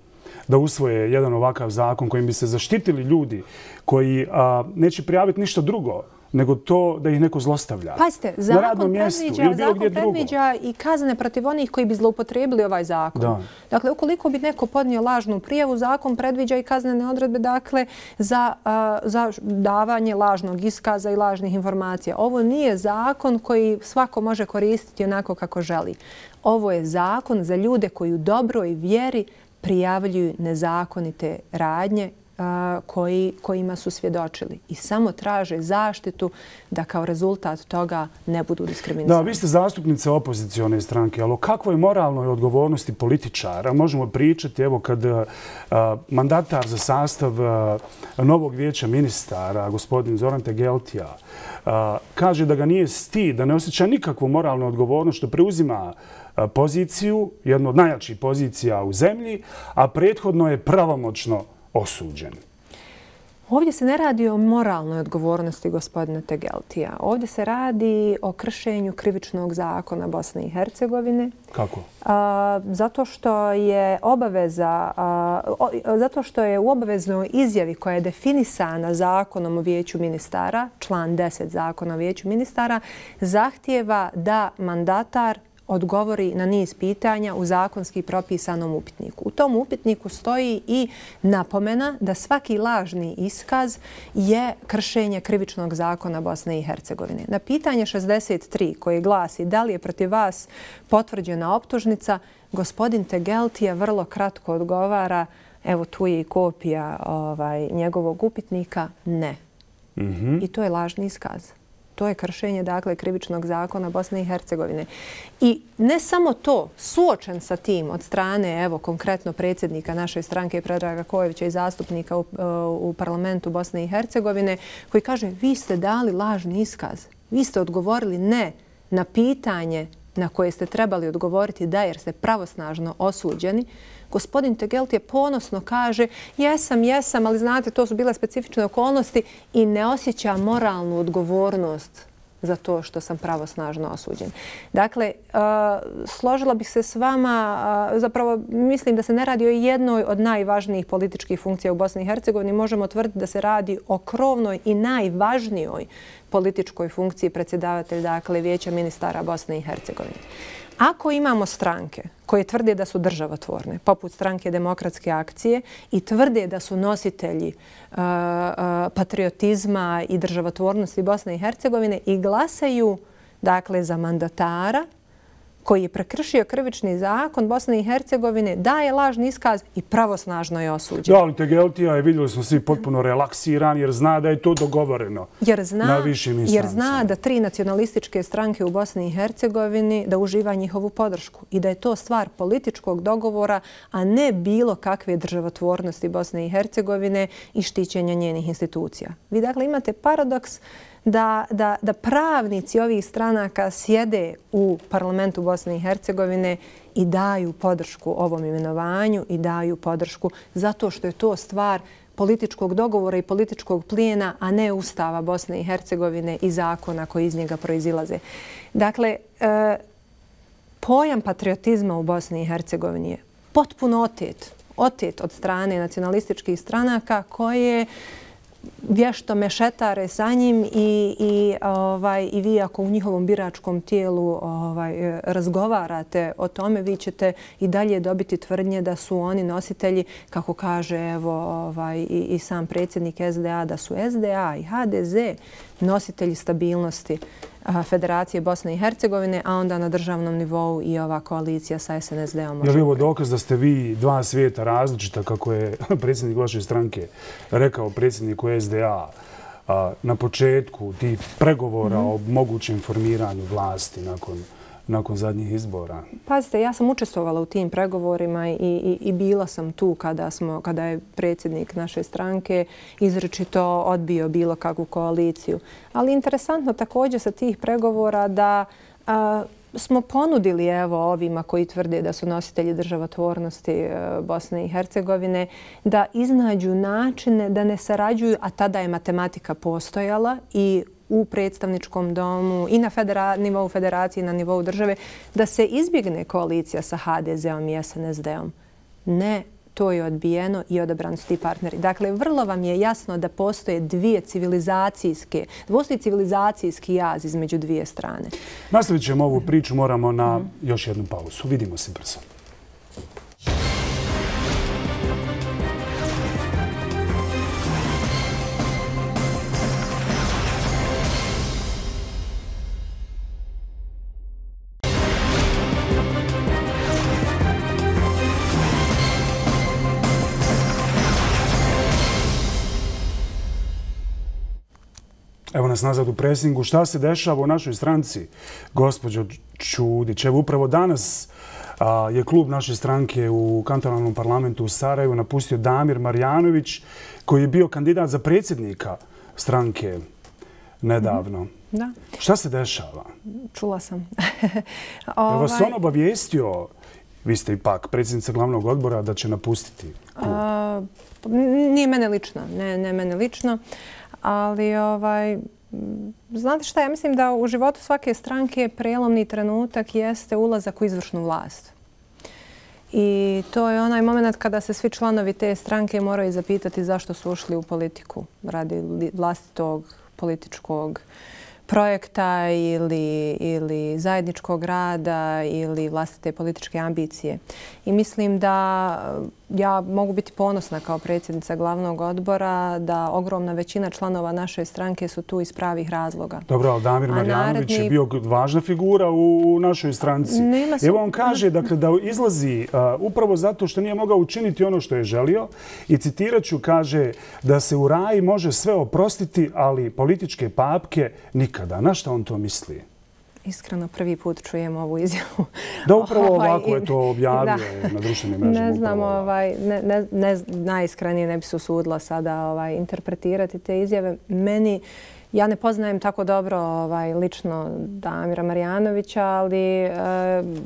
da usvoje jedan ovakav zakon kojim bi se zaštitili ljudi koji a, neće prijaviti ništa drugo nego to da ih neko zlostavlja. Pazite, zakon predviđa, zakon predviđa i kazne protiv onih koji bi zloupotrijebili ovaj zakon. Da. Dakle, ukoliko bi neko podnio lažnu prijavu, zakon predviđa i kaznene odredbe dakle, za, uh, za davanje lažnog iskaza i lažnih informacija. Ovo nije zakon koji svako može koristiti onako kako želi. Ovo je zakon za ljude koji u dobroj vjeri prijavljuju nezakonite radnje Koji, kojima su svjedočili i samo traže zaštitu da kao rezultat toga ne budu diskriminirani. Da, vi ste zastupnice opozicione stranke, ali o kakvoj moralnoj odgovornosti političara možemo pričati evo kad a, mandatar za sastav a, novog vijeća ministara, gospodin Zoran Tegeltija, a, kaže da ga nije stid, da ne osjeća nikakvu moralnu odgovornost što preuzima a, poziciju, jednu od najjačih pozicija u zemlji, a prethodno je pravomoćno osuđen. Ovdje se ne radi o moralnoj odgovornosti gospodina Tegeltija. Ovdje se radi o kršenju krivičnog zakona Bosne i Hercegovine. Kako? A, zato što je obaveza, a, o, zato što je u obaveznoj izjavi koja je definisana zakonom o vijeću ministara, član deset zakona o vijeću ministara, zahtijeva da mandatar odgovori na niz pitanja u zakonski propisanom upitniku. U tom upitniku stoji i napomena da svaki lažni iskaz je kršenje krivičnog zakona Bosne i Hercegovine. Na pitanje šezdeset tri koje glasi da li je protiv vas potvrđena optužnica, gospodin Tegeltija vrlo kratko odgovara, evo tu je i kopija ovaj, njegovog upitnika, ne. Mm-hmm. I to je lažni iskaz. To je kršenje, dakle, krivičnog zakona Bosne i Hercegovine. I ne samo to, suočen sa tim od strane, evo, konkretno predsjednika naše stranke Predraga Kojevića i zastupnika u, u parlamentu Bosne i Hercegovine, koji kaže, vi ste dali lažni iskaz. Vi ste odgovorili ne na pitanje na koje ste trebali odgovoriti da jer ste pravosnažno osuđeni. Gospodin Tegeltija ponosno kaže jesam, jesam, ali znate, to su bile specifične okolnosti i ne osjeća moralnu odgovornost za to što sam pravosnažno osuđen. Dakle, uh, složila bih se s vama, uh, zapravo mislim da se ne radi o jednoj od najvažnijih političkih funkcija u Bosni i Hercegovini. Možemo tvrditi da se radi o krovnoj i najvažnijoj političkoj funkciji predsjedavatelja, dakle, Vijeća ministara Bosne i Hercegovine. Ako imamo stranke koje tvrde da su državotvorne, poput stranke Demokratske akcije, i tvrde da su nositelji uh, uh, patriotizma i državotvornosti Bosne i Hercegovine i glasaju, dakle, za mandatara koji je prekršio krivični zakon Bosne i Hercegovine, daje lažni iskaz i pravosnažno je osuđen. Da, ali Tegeltija je, vidjeli smo svi, potpuno relaksiran jer zna da je to dogovoreno jer zna, na višim instancama. Jer zna da tri nacionalističke stranke u Bosni i Hercegovini da uživa njihovu podršku i da je to stvar političkog dogovora, a ne bilo kakve državotvornosti Bosne i Hercegovine i štićenja njenih institucija. Vi dakle imate paradoks Da, da, da pravnici ovih stranaka sjede u parlamentu Bosne i Hercegovine i daju podršku ovom imenovanju i daju podršku zato što je to stvar političkog dogovora i političkog plijena, a ne Ustava Bosne i Hercegovine i zakona koji iz njega proizilaze. Dakle, e, pojam patriotizma u Bosni i Hercegovini je potpuno otet. Otet od strane nacionalističkih stranaka koje vješto mešetare sa njim i, i, ovaj, i vi ako u njihovom biračkom tijelu ovaj, razgovarate o tome, vi ćete i dalje dobiti tvrdnje da su oni nositelji, kako kaže evo, ovaj, i, i sam predsjednik S D A, da su S D A i H D Z nositelji stabilnosti Federacije Bosne i Hercegovine, a onda na državnom nivou i ova koalicija sa S N S D-om. Je li ovo dokaz da ste vi dva svijeta različita, kako je predsjednik vaše stranke rekao predsjedniku S D A na početku tih pregovora o mogućem formiranju vlasti nakon nakon zadnjih izbora? Pazite, ja sam učestvovala u tim pregovorima i, i, i bila sam tu kada, smo, kada je predsjednik naše stranke izričito odbio bilo kakvu koaliciju. Ali interesantno također sa tih pregovora da a, smo ponudili evo ovima koji tvrde da su nositelji državotvornosti Bosne i Hercegovine da iznađu načine da ne sarađuju, a tada je matematika postojala i u predstavničkom domu i na federa, nivou federacije i na nivou države, da se izbjegne koalicija sa H D Z-om i S N S D-om. Ne, to je odbijeno i odabrani su ti partneri. Dakle, vrlo vam je jasno da postoje dvije civilizacijske, da postoji civilizacijski jaz između dvije strane. Nastavit ćemo ovu priču, moramo na još jednu pauzu. Vidimo se brzo. Evo nas nazad u presingu. Šta se dešava u našoj stranci, gospođo Čudić? Evo upravo danas a, je klub naše stranke u kantonalnom parlamentu u Sarajevu napustio Damir Marjanović, koji je bio kandidat za predsjednika stranke nedavno. Da. Šta se dešava? Čula sam. Je vas on obavijestio, vi ste ipak predsjednica glavnog odbora, da će napustiti klub? A, nije mene lično, ne, ne mene lično. Ali, ovaj, znate šta, ja mislim da u životu svake stranke prijelomni trenutak jeste ulazak u izvršnu vlast. I to je onaj moment kada se svi članovi te stranke moraju zapitati zašto su ušli u politiku radi vlastitog političkog projekta ili, ili zajedničkog rada ili vlastite političke ambicije. I mislim da ja mogu biti ponosna kao predsjednica glavnog odbora da ogromna većina članova naše stranke su tu iz pravih razloga. Dobro, ali Damir Marjanović je bio važna figura u našoj stranci. Evo on kaže dakle, da izlazi uh, upravo zato što nije mogao učiniti ono što je želio i citirat ću, kaže da se u raji može sve oprostiti, ali političke papke nikada. Na što on to misli? Iskreno, prvi put čujem ovu izjavu. Da, upravo ovako je to objavio na društvenim mrežama. Ne znam, ovaj, ne, ne, ne, najiskrenije ne bi se usudila sada ovaj, interpretirati te izjave. Meni, ja ne poznajem tako dobro ovaj, lično Damira Marjanovića, ali e,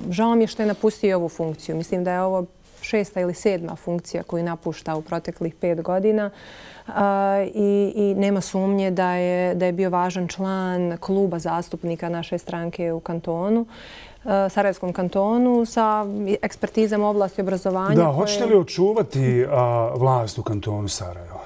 žao mi je što je napustio ovu funkciju. Mislim da je ovo šesta ili sedma funkcija koju napušta u proteklih pet godina. Uh, i, i nema sumnje da je, da je bio važan član kluba zastupnika naše stranke u kantonu, uh, Sarajevskom kantonu, sa ekspertizom u oblasti obrazovanja. Da, koje... hoćete li očuvati uh, vlast u kantonu Sarajeva?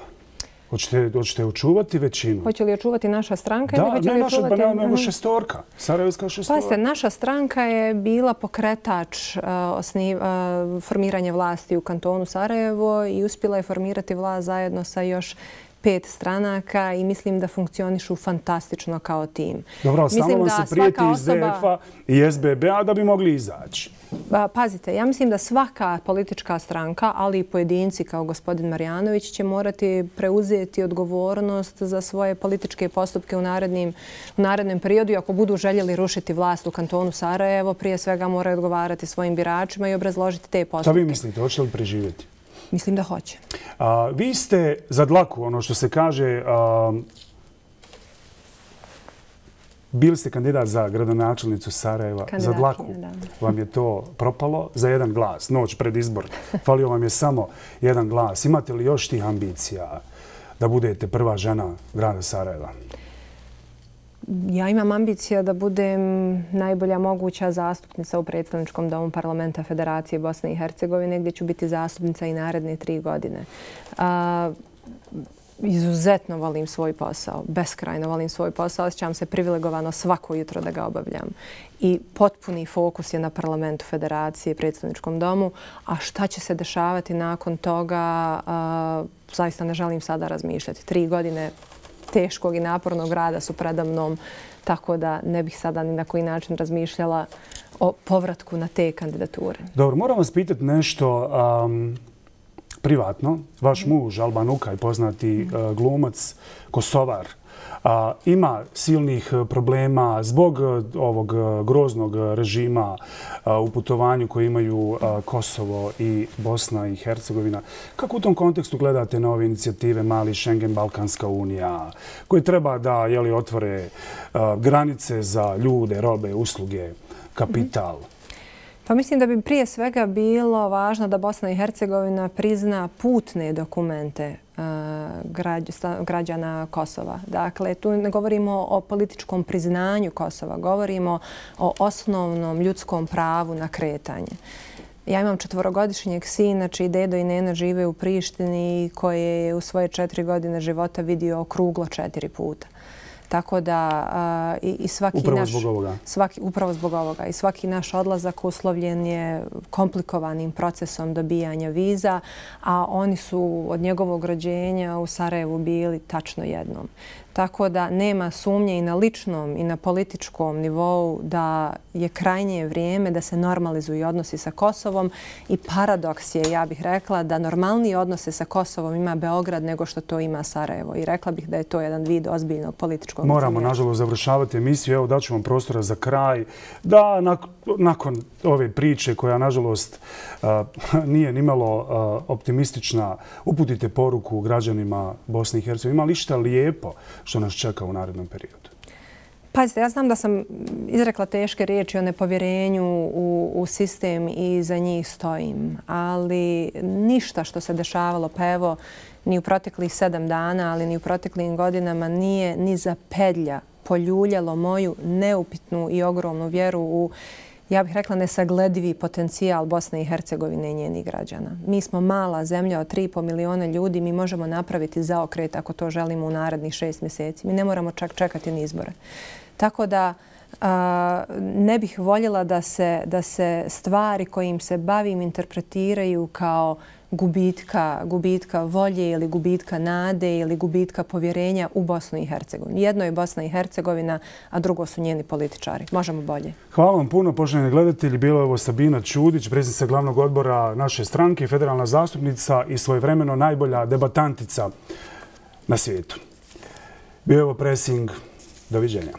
Hoćete, hoćete očuvati većinu? Hoće li očuvati naša stranka? Da, ili hoće ne li naša, očuvati... pa ne, nego šestorka. Sarajevska šestorka. Pazite, naša stranka je bila pokretač uh, osniv, uh, formiranja vlasti u kantonu Sarajevo i uspjela je formirati vlast zajedno sa još pet stranaka i mislim da funkcionišu fantastično kao tim. Dobro, samo vam se prijeti iz D F-a i S B B-a da bi mogli izaći. Pazite, ja mislim da svaka politička stranka, ali i pojedinci kao gospodin Marjanović će morati preuzeti odgovornost za svoje političke postupke u narednim, u narednom periodu. I ako budu željeli rušiti vlast u kantonu Sarajevo, prije svega moraju odgovarati svojim biračima i obrazložiti te postupke. Šta vi mislite, hoćete li preživjeti? Mislim da hoće. A, vi ste za dlaku, ono što se kaže, a, bili ste kandidat za gradonačelnicu Sarajeva. Za dlaku vam je to propalo za jedan glas, noć pred izbor. Falio vam je samo jedan glas. Imate li još tih ambicija da budete prva žena grada Sarajeva? Ja imam ambicija da budem najbolja moguća zastupnica u predstavničkom domu Parlamenta Federacije Bosne i Hercegovine, gdje ću biti zastupnica i naredne tri godine. A, izuzetno volim svoj posao, beskrajno volim svoj posao, osjećam se privilegovano svako jutro da ga obavljam. I potpuni fokus je na Parlamentu Federacije i predstavničkom domu, a šta će se dešavati nakon toga, a, zaista ne želim sada razmišljati. Tri godine teškog i napornog rada su preda mnom, tako da ne bih sada ni na koji način razmišljala o povratku na te kandidature. Dobro, moram vas pitati nešto um, privatno. Vaš muž, Alban Ukaj, poznati uh, glumac, Kosovar, uh, ima silnih problema zbog uh, ovog uh, groznog režima uh, u putovanju koje imaju uh, Kosovo i Bosna i Hercegovina. Kako u tom kontekstu gledate na ove inicijative Mali Schengen, Balkanska unija, koji treba da jeli, otvore uh, granice za ljude, robe, usluge, kapital? Mm-hmm. Pa mislim da bi prije svega bilo važno da Bosna i Hercegovina prizna putne dokumente građana Kosova. Dakle, tu ne govorimo o političkom priznanju Kosova, govorimo o osnovnom ljudskom pravu na kretanje. Ja imam četvorogodišnjeg sina, čiji dedo i nena žive u Prištini, koje je u svoje četiri godine života vidio okruglo četiri puta. Tako da uh, i, i svaki upravo naš... Zbog ovoga. Svaki, upravo zbog ovoga. I svaki naš odlazak uslovljen je komplikovanim procesom dobijanja viza, a oni su od njegovog rođenja u Sarajevu bili tačno jednom. Tako da nema sumnje i na ličnom i na političkom nivou da je krajnje vrijeme da se normalizuju odnosi sa Kosovom i paradoks je, ja bih rekla, da normalnije odnose sa Kosovom ima Beograd nego što to ima Sarajevo. I rekla bih da je to jedan vid ozbiljnog političkog Moramo, incidenata. nažalost, završavati emisiju. Evo, daću vam prostora za kraj. Da, nak nakon ove priče koja, nažalost, uh, nije nimalo uh, optimistična, uputite poruku građanima Bosne i Hercegovine. Ima li šta lijepo što nas čeka u narednom periodu? Pazite, ja znam da sam izrekla teške riječi o nepovjerenju u, u sistem i za njih stojim, ali ništa što se dešavalo, pa evo, ni u proteklih sedam dana, ali ni u proteklim godinama nije ni za pedlja poljuljalo moju neupitnu i ogromnu vjeru u, ja bih rekla, nesagledivi potencijal Bosne i Hercegovine i njenih građana. Mi smo mala zemlja od tri i pol miliona ljudi, mi možemo napraviti zaokret ako to želimo u narednih šest mjeseci. Mi ne moramo čak čekati ni izbore. Tako da a, ne bih voljela da se, da se stvari kojim se bavim interpretiraju kao gubitka, gubitka volje ili gubitka nade ili gubitka povjerenja u Bosnu i Hercegovinu. Jedno je Bosna i Hercegovina, a drugo su njeni političari. Možemo bolje. Hvala vam puno, poštovani gledatelji. Bila je ovo Sabina Čudić, predsjednica glavnog odbora naše stranke, federalna zastupnica i svojevremeno najbolja debatantica na svijetu. Bio je ovo Pressing. Doviđenja.